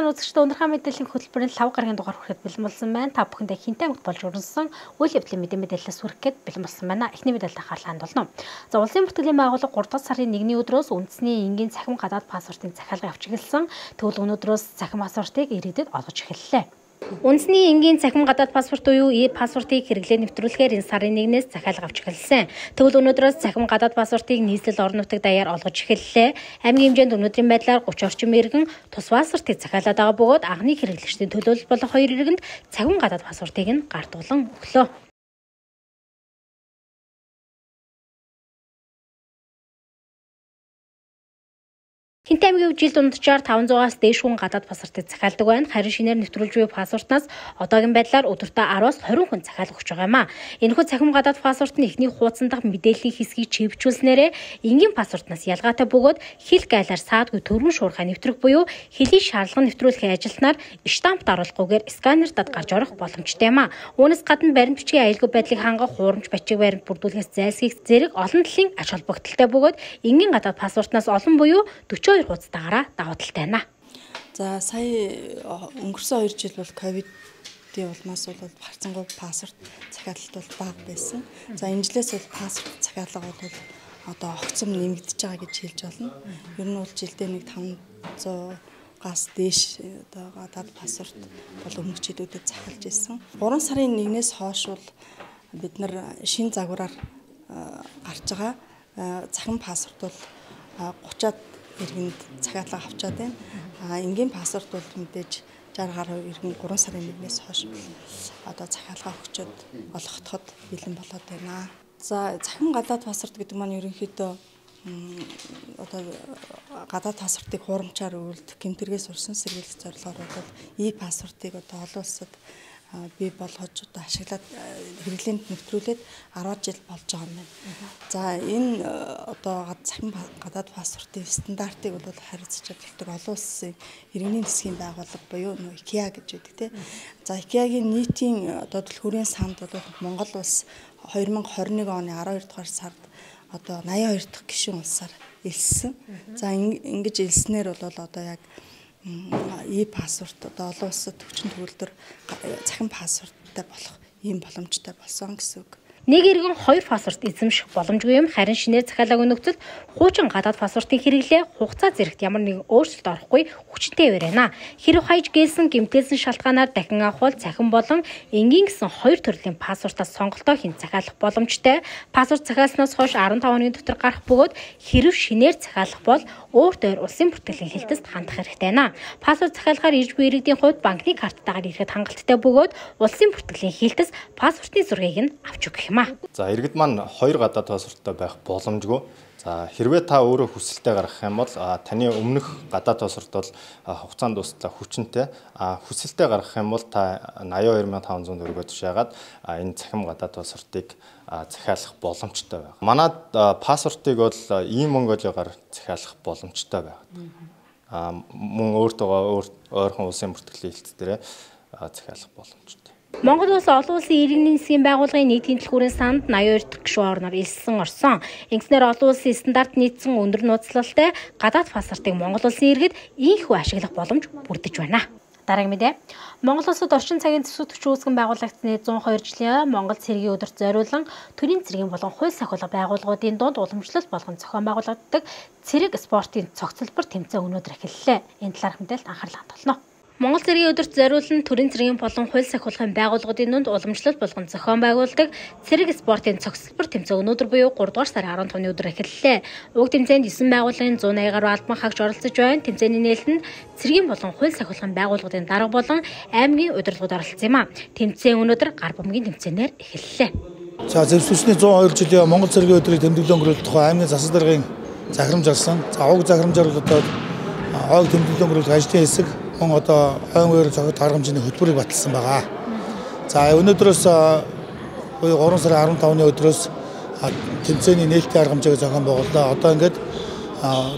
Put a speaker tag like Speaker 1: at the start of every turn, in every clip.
Speaker 1: маань үзэгчдээ өнөрхөн мэдээллийн хөтөлбөрийн 5 гарагийн дугаар хүрэхэд бэлэн болсон байна. Та бүхэндээ хинтээ огт болж өрнсөн үйл явдлын мэдээлэлээс хүрэх гээд бэлэн болсон байна. Эхний мэдээлэлд анхаарлаа хандуулна. За улсын бүртгэлийн байгууллага 3 дугаар сарын 1-ний өдрөөс үндэсний энгийн цахим гадаад паспортын захиалгыг авч эхэлсэн. Тэгвэл өнөөдрөөс цахим паспортыг иргэдэд олгож эхэллээ. Үндэсний энгийн цахим гадаад паспорт буюу e-паспортыг хэрэглээ нэвтрүүлэхээр энэ сарын 1-ээс захиалга авч эхэлсэн. Тэгвэл өнөөдрөөс цахим гадаад паспортыг нийслэл орон нутаг даяар олгож эхэллээ. Аймгийн хэмжээнд өнөөдрийн байдлаар 30 орчим иргэн тус паспортыг захиалаад байгаа бөгөөд анхны хэрэглэгчдийн төлөөлөл болох 2 иргэнд цахим гадаад паспортыг нь гартуулан өглөө. Хинтээ аймгийн жилд дунджаар 500-аас дээш хүн гадаад паспортыг захиалдаг байна. Харин шинээр нэвтрүүлж буй паспортнаас одоогийн байдлаар өдөртөө 10-аас 20 хүн захиалга өгч байгаа юм а. Энэхүү цахим гадаад паспорт нь эхний хуудсан дахь мэдээллийн хэсгийг чипжүүлснээрээ энгийн паспортнаас ялгаатай бөгөөд хэл гайлаар саадгүй төргөн шуурхай нэвтрэх буюу хэлийн шаардлага нэвтрүүлэхийн ажилтнаар штампт оруулахгүйгээр сканердад гарч орох боломжтой юм а. Үүнээс гадна баримт бичгийн аюулгүй байдлыг хангах хуурамч бичиг баримт бүрдүүлэхээс зайлсхийх зэрэг олон талын ач холбогдолтой бөгөөд энгийн гадаад паспортнаас олон буюу 42 хуудастайгаараа давуу талтай байна.
Speaker 2: За сая өнгөрсөн 2 жил бол ковидын улмаас бол харцангуй паспорт захиалалт бол бага байсан. За энэ жилээс бол паспорт захиалга бол одоо огцом нэмэгдэж байгаа гэж хэлж болно. Ер нь бол жилдээ нэг 500-аас дээш одоо гадаад паспорт бол өмнөх жилүүдэд захиалж ирсэн. 3 сарын 1-ээс хойш бол бид нар шинэ загвараар гарч байгаа цахим паспорт бол 30-аад иргэнд захиалга авчаад байна. Энгийн паспорт бол мэдээж 60 гаруй иргэн 3 сарын 1-ээс хойш одоо захиалга өгчөд олгохдоход бэлэн болоод байна. За цахим гадаад паспорт гэдэг маань ерөнхийдөө одоо гадаад паспортыг хуурамчаар өгүүлдэг гэмтэргээс урьсан сэргийлэх зорилгоор бол e-паспортыг одоо олон улсад бий болгож одоо ашиглаад хэрэглээнд нэвтрүүлээд 10 жил болж байгаа юм байна. За энэ одоо цахим гадаад паспортын стандартыг бол харьцаж чаддаг олон улсын иргэний засгийн байгууллага буюу IKEA гэж байдаг тийм. За IKEA-гийн нийтийн одоо түлхүүрийн санд бол Монгол улс 2021 оны 12 дугаар сард одоо 82 дахь гишүүн улсаар элссэн. За ингэж элснээр бол одоо яг e-паспорт одоо олон улсад хүчин төгөлдөр цахим паспорттай болох ийм боломжтой болсон гэсэн үг.
Speaker 1: Нэг иргэн 2 паспорт эзэмших боломжгүй юм. Харин шинээр захиалгаагийн нөхцөлд хуучин гадаад паспортын хэрэглээ хугацаа зэрэгт ямар нэгэн өөрчлөлт орохгүй хүчтэй байна. Хэрв хаяж гээсэн гэмтээсэн шалтгаанаар дахин авах бол цахим болон энгийн гэсэн 2 төрлийн паспортаас сонголтоо хийн захиалах боломжтой. Паспорт захиалснаас хойш 15 хоногийн дотор гарах бөгөөд хэрв шинээр захиалах бол өөртөө улсын бүртгэлийн хэлтэст хандах хэрэгтэй байна. Паспорт захиалгаар ирж буй иргэдийн хувьд банкны карттайгаар ирэхэд хангалттай бөгөөд улсын бүртгэлийн хэлтэс паспортын зургийг нь авч өгөх.
Speaker 3: За иргэд маань 2 гадаад паспорттой байх боломжгүй. За хэрвээ та өөрөө хүсэлтэд гаргах юм бол таны өмнөх гадаад паспорт бол хугацаанд дуслаа хүчинтэй. Хүсэлтэд гаргах юм бол та 82500 төгрөгөөр тушаагаад энэ цахим гадаад паспортыг захиалах боломжтой байна. Манайд паспортыг бол e-Mongolia-гаар захиалах боломжтой байна. Мөн өөртөө ойрхон улсын бүртгэлийн хэлт дээрээ захиалах боломжтой.
Speaker 1: Монгол улс олон улсын иргэний засгийн байгууллагын нийтийн түлхүүрийн санд 82 дахь гишүүн орноор элсэн орсон. Ингэснээр олон улсын стандарт нийцсэн өндөр нууцлалтай гадаад паспортыг Монгол улсын иргэд ийхүү ашиглах боломж бүрдэж байна. Дараагийн мэдээ. Монгол улсад орчин цагийн төсөв төвч үүсгэн байгуулагдсны 102 жилийн Монгол цэргийн өдөрт зориулан төрийн цэргийн болон хууль сахиулга байгууллагуудын дунд уламжлалт болгон зохион байгуулагддаг цэрэг спортын цогцлбор тэмцээн өнөөдөр эхэллээ. Энэ талаарх мэдээлэлд анхаарлаа хандуулна. Монгол цэргийн өдөрт зориулан төрийн цэргийн болон хууль сахиулгын байгууллагуудын дунд уламжлалт болгон зохион байгуулдаг цэрэг спортын цогцлбор тэмцээн өнөөдөр буюу 3 дугаар сарын 15-ны өдөр эхэллээ. Уг тэмцээнд 9 байгууллагын 180 гаруй албан хаагч оролцож байна. Тэмцээний нээлтэнд цэргийн болон хууль сахиулгын байгууллагуудын дарга болон аймгийн удирдлагууд оролцсон юм а. Тэмцээн өнөөдөр гар бомгийн тэмцээнээр эхэллээ.
Speaker 4: За зөвшөөрсний 102 жилийн Монгол цэргийн өдрийг тэмдэглэн өнгөрүүлэх тухай аймгийн засаг даргын захирамж гарсан. За уг захирамжаар одоо ойг тэмдэглэн өнгөрүүлэх ажлын хэсэг мөн одоо ойн үеэр зохиод арга хэмжээний хөтөлбөрийг баталсан байгаа. За өнөөдрөөс буюу 3 сарын 15-ны өдрөөс тэмцээний нээлттэй арга хэмжээг зохион байгууллаа. Одоо ингээд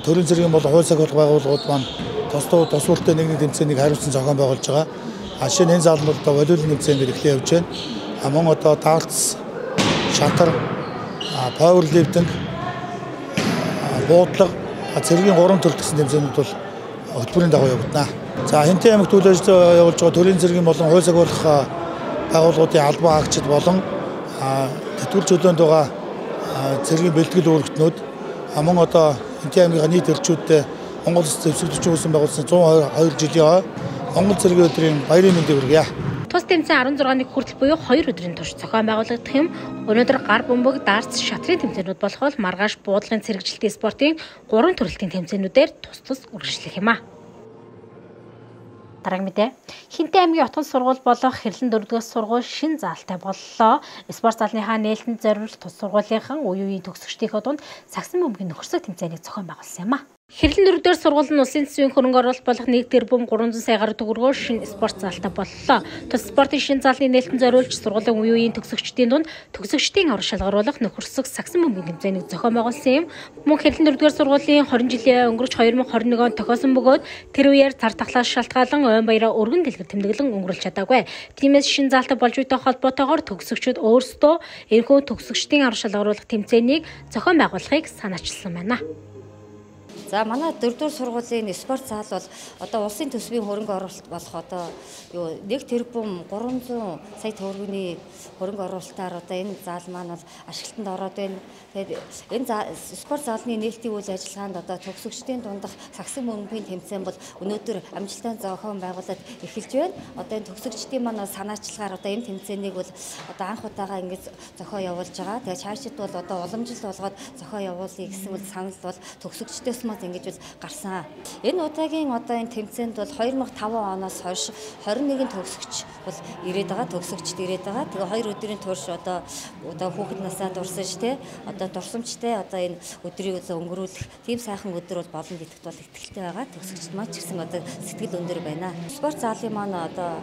Speaker 4: төрийн цэргийн болон хууль сахиулах байгууллагууд маань тусвалтай нэг тэмцээнийг хариуцсан зохион байгуулж байгаа. Жишээ нь энэ заалмал одоо волейбол тэмцээн гэж эхлэх явж байна. Мөн одоо давалц, шатар, пауэрлифтинг, буудлага цэргийн 3 төрөл гэсэн тэмцээнүүд бол хөтөлбөрийн дагуу явагдана. За Хинтээ аймагт үйл ажиллагаа явуулж байгаа төрийн цэргийн болон хууль сахиулах байгууллагуудын албан хаагчид болон тэтгэврч хөлөөнд байгаа цэргийн бэлтгэл үүрэгтнүүд мөн одоо Хинтээ аймгийн нийт элчүүдтэй Монгол Улс зэвсэгдэж үүсэн байгуулсан 122 жилийн Монгол цэргийн өдрийн баярын мэндийг хүргье.
Speaker 1: Тус тэмцээн 16-ны хүртэл буюу 2 өдрийн турш зохион байгуулагдах юм. Өнөөдөр гар бөмбөг, дартс, шатрын тэмцээнүүд болох бол маргааш буудлагын цэрэгжилтийн спортын 3 төрөлтийн тэмцээнүүдээр тус үргэлжлэх юм а. Дараагийн мэдээ. Хинтээ аймгийн отгон сургууль болох Хэрлэн 4-р сургууль шин заалтай боллоо. Спорт залныхаа нээлтэнд зориулж тус сургуулийнхаа үеийн төгсөгчдийнхөө дунд сагсан бөмбөгийн нөхөрсөг тэмцээнийг зохион байгуулсан юм а. Хэрлэн 4-р сургууль нь улсын төсвийн хөрөнгө оруулалт болох 1 тэрбум 300 сая гаруй төгрөгөөр шинэ спорт заалтай боллоо. Тус спортын шинэ заалны нээлтэнд зориулж сургуулийн үеийн төгсөгчдийн дунд төгсөгчдийн авраг шалгаруулах нөхөрсөг сагсан бөмбөгийн тэмцээнийг зохион байгуулсан юм. Мөн Хэрлэн 4-р сургуулийн 20 жилийн өнгөрч 2021 онд тохиосон бөгөөд тэр үеэр цар тахлаас шалтгаалan ойн баяраа өргөн дэлгэр тэмдэглэн өнгөрүүлж чадаагүй. Тиймээс шинэ заалтай болж буйтай холбоотойгоор төгсөгчид өөрсдөө энэхүү төгсөгчдийн авраг шалгаруулах тэмцээнийг зохион байгуулахыг санаачилсан байна.
Speaker 5: За манай 4-р сургуулийн спорт зал бол одоо улсын төсвийн хөрөнгө оруулалт болох одоо 1 тэрбум 300 сая төгрөгийн хөрөнгө оруулалтаар одоо энэ зал маань бол ашиглалтанд ороод байна. Тэгээд энэ спорт залны нээлтийн үйл ажиллагаанд одоо төгсөгчдийн дундах сагсан бөмбөгийн тэмцээн бол өнөөдөр амжилттай зохион байгуулалт эхэлж байна. Одоо энэ төгсөгчдийн маань санаачлагаар одоо энэ тэмцээнийг бол одоо анх удаага ингэж зохион явуулж байгаа. Тэгээд цаашид бол одоо уламжлалт болгоод зохион явуулъя гэсэн үл санал бол төгсөгчдөөс ингэж бол гарсан. Энэ удаагийн одоо энэ тэмцээнд бол 2005 оноос хойш 21 төгсөгч бол ирээд байгаа, төгсөгчд ирээд байгаа. Тэгээ 2 өдрийн турш одоо хүүхэд насаа дурсаж те одоо дурсамжтай одоо энэ өдрийг өнгөрүүлэх тийм сайхан өдөр бол болно гэдэгт бол итгэлтэй байгаа. Төгсөгчд маань ч гэсэн одоо сэтгэл өндөр байна. Спорт залын маань одоо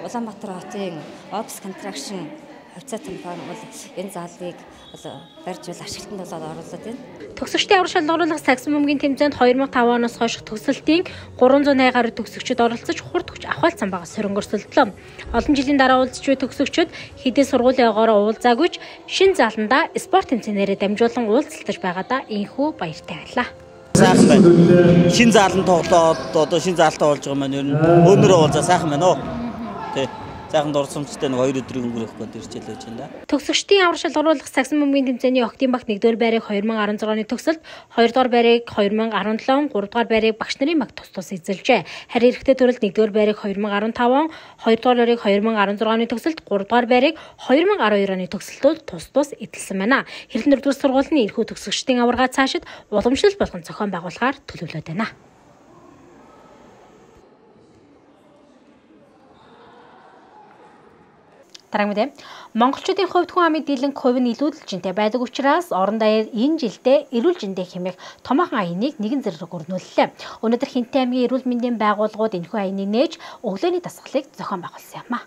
Speaker 5: Улаанбаатар хотын Ops Construction хувьцаа компани бол энэ залыг барьж ашиглалтанд болоод оруулаад байна.
Speaker 1: Төгсөгчдийн авраг шалгаруулах сагсан бөмбөгийн тэмцээнд 2005 оноос хойш төгсөлтийн 380 гаруй төгсөгчид оролцож хурд төгч ахвалцсан байгаа сөрөнгө өрсөлдлөө. Олон жилийн дараа уулзч буй төгсөгчид хэдий сургуулиогоор уулзаагүйч шин зааланда спорт тэмцээнээрээ дамжуулан уулзалтаж байгаадаа инхүү баяртай байлаа.
Speaker 6: Сайхан байна. Шин зааланд тоглоод одоо шин заалтаа болж байгаа маань ер нь өнөрөө уулзаа сайхан байна уу? Тий. Сайхан дурсамжтай нэг 2 өдрийн өнгөрөх гээд ирж ялж байна да.
Speaker 1: Төгсөгчдийн авраг шалгаруулах сагсан бөмбөгийн тэмцээний Октябрь багт 1-р байрыг 2016 оны төгсөлд, 2-р байрыг 2017, 3-р байрыг багш нарын баг тус эзэлжээ. Харин эрэгтэй төрөлд 1-р байрыг 2015, 2-р байрыг 2016 оны төгсөлд, 3-р байрыг 2012 оны төгсөлтөд тус эзэлсэн байна. Хэрлэн 4-р сургуулийн эрхүү төгсөгчдийн аварга цаашид уламжлалт болгон зохион байгуулахаар төлөвлөд байна. Дараагийн мэдээ. Монголчуудын хувьд хүн амын дийлэнх хувь нь илүүдэлжинтэй байдаг учраас орон даяар энэ жилдээ эрүүл мэндийн хэмээх томоохон аяныг нэгэн зэрэг өрнүүллээ. Өнөөдөр Хинтээ аймгийн эрүүл мэндийн байгууллагууд энэхүү аяныг нээж өглөөний дасгалыг зохион байгуулсан юм а.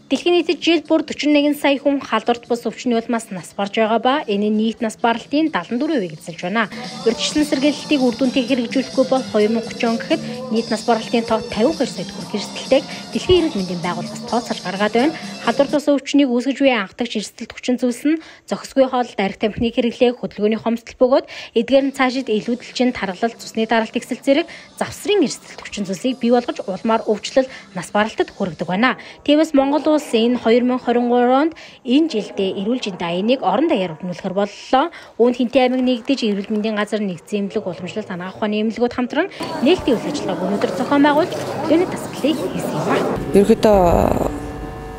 Speaker 1: Дэлхийн нийтэд жил бүр 41 сая хүн халдварт бус өвчний улмаас нас барж байгаа ба энэ нь нийт нас баралтын 74% эзэлж байна. Урьдчилан сэргийлэлтийг үр дүнтэй хэрэгжүүлэхгүй бол 2030 он гэхэд нийт нас баралтын тоо 52 сая төгрөг эрсдэлтэйг Дэлхийн эрүүл мэндийн байгууллагаас тооцоолж гаргаад байна. Халдварт бус өвчнийг үүсгэж буй анхдагч эрсдэлт хүчин зүйлс нь зохисгүй хоолд арх тамхины хэрэглээ, хөдөлгөөний хомсдол бөгөөд эдгээр нь цаашид илүүдэлчин тархалт, цусны даралт ихсэл зэрэг завсрын эрсдэлт хүчин зүйлсийг бий болгож улмаар өвчлөл нас баралтад хүргэдэг байна. Тиймээс Монгол улс энэ 2023 онд энэ жилдээ эрүүл мэндийн аяныг орон даяар өрнүүлэхээр боллоо. Үүнд Хинтээ аймаг нэгдэж эрүүл мэндийн газар нэгдсэн эмнэлэг уламжлалт анагаах ухааны эмнэлгүүд хамтран нээлтийн үйл ажиллагааг өнөөдөр зохион байгуулж өглөөний дасгалыг хийсэн юм а.
Speaker 7: Ерөнхийдөө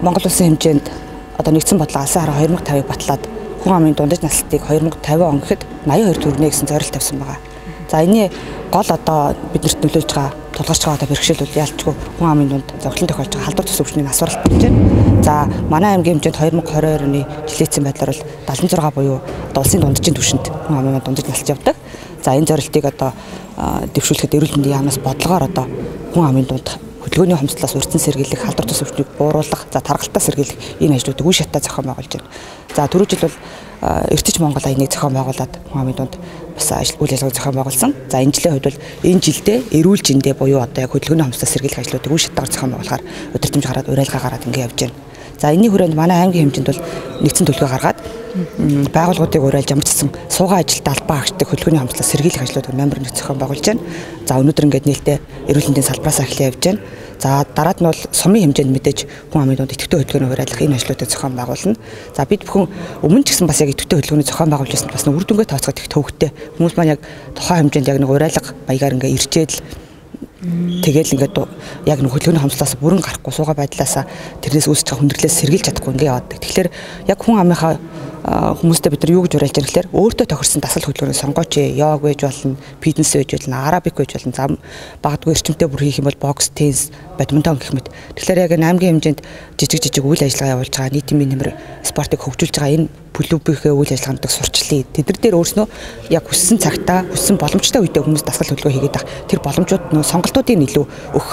Speaker 7: Монгол улсын хэмжээнд одоо нэгдсэн бодлого алсын хараа 2050-ыг батлаад хүн амын дундаж наслалтыг 2050 он гэхэд 82 төгрөгнө гэсэн зорилт тавьсан байгаа. За энэний гол одоо биднэрт нөлөөлж байгаа тулгарч байгаа одоо бэрхшээл бол яалтчгүй хүн амын дунд зовлон тохиолж байгаа халдвар тус өвчний нас баралт болж байна. За манай аймгийн хэмжээнд 2022 оны жилийн байдлаар бол 76 буюу одоо улсын дунджийн түвшинд хүн амын дундаж наслж явдаг. За энэ зорилтыг одоо дэвшүүлэхэд эрүүл мэндийн яамнаас бодлогоор одоо хүн амын дунд хөдөлгөөний хомсдлоос урьдчилан сэргийлэх, халдвар тус өвчнийг бууруулах, за тархалтаа сэргийлэх энэ ажлуудыг үе шатаа зохион байгуулж байна. За түрүү жил бол эртэж Монгол аяныг зохион байгуулад хүн амын дунд бас үйл ажиллагааг зохион байгуулсан. За энэ жилийн хувьд бол энэ жилдээ эрүүл мэндэ буюу одоо яг хөдөлгөөний хомсдлоос сэргийлэх ажлуудыг үе шатаагаар зохион байгуулахаар удирдамж гараад уриалга гараад ингэ явж байна. За энэний хүрээнд манай аймгийн хэмжээнд бол нэгдсэн төлөвлөгөө гаргаад байгууллагуудыг уриалж ямар ч гэсэн суугаа ажилд албаа агчдаг хөдөлгөөний хамтлаг сэргийлэх ажлууд номер 1 зохион байгуулж байна. За өнөөдөр ингээд нээлттэй эрүүл мэндийн салбараас эхлэе явж байна. За дараад нь бол сумын хэмжээнд мэдээж хүн амын дунд идэвхтэй хөдөлгөөний хураалах энэ ажлуудыг зохион байгуулна. За бид бүхэн өмнө ч гэсэн бас яг идэвхтэй хөдөлгөөний зохион байгуулж байсан бас үр дүнгээ тооцоод их төвөгтэй. Хүмүүс маань яг тухайн хэмжээнд яг нэг хураалах баягаар ингээд ирчээд л тэгэл ингээд яг нэг хөдөлгөөний хамтлаас бүрэн гарахгүй суугаа байдлаасаа тэрнээс үүсэж байгаа хүндрэлээс сэргийлж чадахгүй ингээд яваад. Тэгэхээр яг хүн амынхаа хүмүүстэй бид нар юу гэж уриалж байгаа гэхээр өөртөө тохирсон дасгал хөдөлгөөний сонгооч йог байж болно, фитнес байж болно, арабик байж болно, зам багдгүй эрчимтэй бүр хийх юм бол бокс, теннис, бадминтон гэх мэт. Тэгэхээр яг аймгийн хэмжээнд жижиг үйл ажиллагаа явуулж байгаа нийтийн нэмэр спортыг хөгжүүлж байгаа энэ клубийнхээ үйл ажиллагаануудыг сурчлаа. Тэд нар дээр өөрснөө яг хүссэн цагтаа, хүссэн боломжтой үедээ хүмүүс дасгал хөдөлгөөн хийгээд байгаа. Тэр боломжууд нөө сонголтуудыг илүү өгөх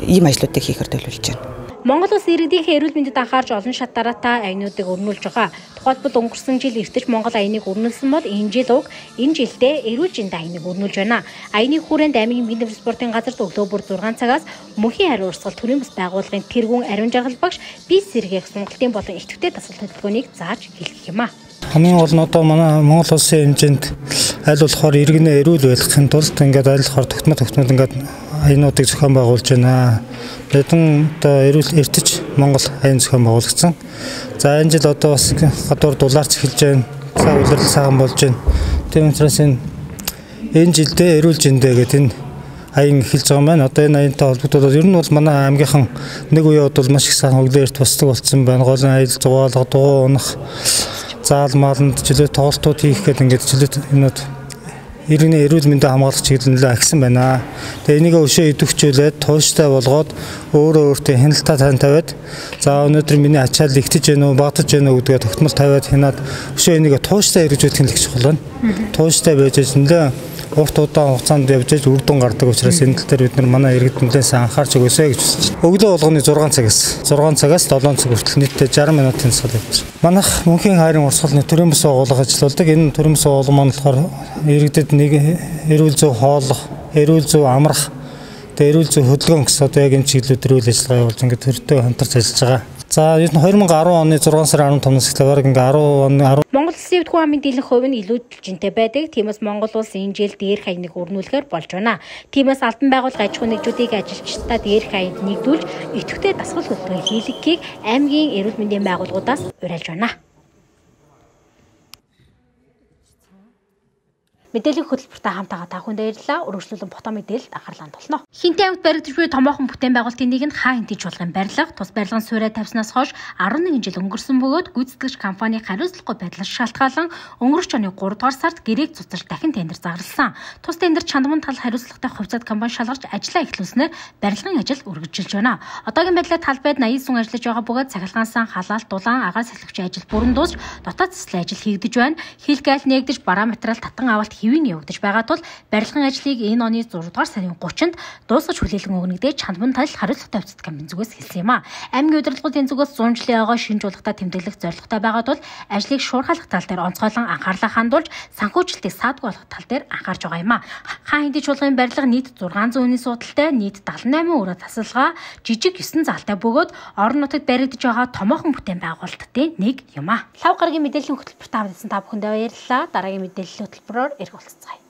Speaker 7: ийм ажлуудыг хийхээр төлөвлөж байна.
Speaker 1: Монгол улс иргэдийнхээ эрүүл мэндэд анхаарч олон шат дараатай аянуудыг өрнүүлж байгаа. Тухайлбал өнгөрсөн жил эртэж Монгол аяныг өрнүүлсэн бол энэ жил уг энэ жилдээ эрүүл мэндийн аяныг өрнүүлж байна. Аяны хүрээнд аймгийн бие дэвшил спортын газарт өглөө бүр 6 цагаас мөнхийн хариу урсгал төрийн бас байгууллагын тэргүүн ариун жаргал багш бие сэргээх сонголтын болон идэвхтэй дасгал хөдөлгөөнийг зааж хэлэх юм а.
Speaker 8: Хамгийн гол нь одоо манай Монгол улсын хэмжээнд аль болохоор иргэнэ эрүүл байлгахын тулд ингээд аль болохоор тогтмол ингээд аянуудыг зохион байгуулж байна. Хэдэн одоо эрүүл эртэж Монгол аян зохион байгуулагдсан. За энэ жил одоо бас гадуур дулаарч эхэлж байна. За улирал сайхан болж байна. Тийм учраас энэ жилдээ эрүүл жиндээ гэдэг энэ аян эхэлж байгаа юм байна. Одоо энэ аянтай холбогдоод ер нь бол манай аймгийнхан нэг үе бол маш их сайхан өглөө эрт бусдаг болсон байна. Гол нь аял зугаалга, дугуй унах, заал мааланд жилээ тоглолтууд хийх гэдэг ингээд жилээ юмуд иргэний эрүүл мэндийг хамгаалах чиглэлээр агсан байна. Тэгээ энийг өшөө идэвхжүүлээд тууштай болгоод өөртөө хяналтаа тавиад за өнөөдөр миний ачаал игтэж гэнэ үү, багтаж гэнэ үү гэдгээ тогтмол тавиад хянаад өшөө энийг тууштай хэрэгжүүлэх нь л чухал байна. Тууштай байж нэлээ урт удаан хугацаанд явж үр дүн гардаг учраас энэ тал дээр бид нар манай иргэд нэлээд анхаарч өгөөсэй гэж хүсэж байна. Өглөө болгоны 6 цагаас 7 цаг хүртэл нийтдээ 60 минутын дасгал явж байна. Манайх мөнхийн хайрын урсгалны төрийн бас байгууллага ажилладаг. Энэ төрийн бас байгууллага маань болохоор иргэдэд нэг эрүүл зөв хооллох, эрүүл зөв амрах, тэгээ эрүүл зөв хөдөлгөөн гэсэн одоо яг энэ чиглэлээр үйл ажиллагаа явуулж ингээд төртөө хамтарч ажиллаж байгаа. За 2010 оны 6 сарын 15-наас эхлээд ингээ 10 оны Монгол
Speaker 1: улсын хүн амын дийлэнх хувь нь илүү жинтэй байдаг. Тиймээс Монгол улс энэ жил дээрх аяныг өрнүүлэхээр болж байна. Тиймээс албан байгууллага аж ахуйн нэгжүүдийг ажилчдаа дээрх аянд нэгдүүлж идэвхтэй дасгал хөдөлгөөн хийлгэхийг аймгийн эрүүл мэндийн байгууллагуудаас уриалж байна. Мэдээллийн хөтөлбөртэй хамтаага та бүхэнд баярлалаа. Өргөжлүүлэн фото мэдээлэлд анхаарлаа тулна. Хинтээ авт баригдаж буй томоохон бүтээн байгуулалтын нэг нь хаа хинтэж болгын барилга, тус барилгын суурай тавьснаас хойш 11 жил өнгөрсөн бөгөөд гүйцэтгэгч компани хариуцлагагүй байдлаас шалтгаалan өнгөрч оны 3 дугаар сард гэрээг цуцалж дахин тендер зарласан. Тус тендер чандман тал хариуцлагатай хувьцаат компани шалгарч ажиллаа эхлүүлснээр барилгын ажил үргэлжилж байна. Одоогийн байдлаар талбайд 80 сүн ажиллаж байгаа бөгөөд цахилгаансан халаалт дулаан агаар сахилгчийн ажил бүрэн дуусч дотоод цэцлэн ажил хийгдэж байна. Хилгээл нээгдэж бараа материал татан авалт хэвийн явагдаж байгаа тул барилгын ажлыг энэ оны 6 дугаар сарын 30-нд дуусгаж хүлээлгэн өгнөгдөө чандман тал хариуцлагатай хувьцат компани зүгээс хэлсэн юм а. Аймгийн удирдлагын зүгээс 100 жилийн ойгоо шинж болгохтой тэмдэглэх зорилготой байгаа тул ажлыг шуурхайлах тал дээр онцгойлон анхаарлаа хандуулж санхүүжилтийг саадгүй болгох тал дээр анхаарч байгаа юм а. Хаа хинтэж чуулгын барилга нийт 600 хүний суудалтай нийт 78 өрөө тасалгаа жижиг 9 заалтай бөгөөд орон нутагт баригдаж байгаа томоохон бүтээн байгуулалтын нэг юм а. Лав гарагийн мэдээллийн хөтөлбөрт хамтсан та бүхэндээ баярлалаа. Дараагийн мэдээллийн хөтөлбөрөөр ирэх болцгоё.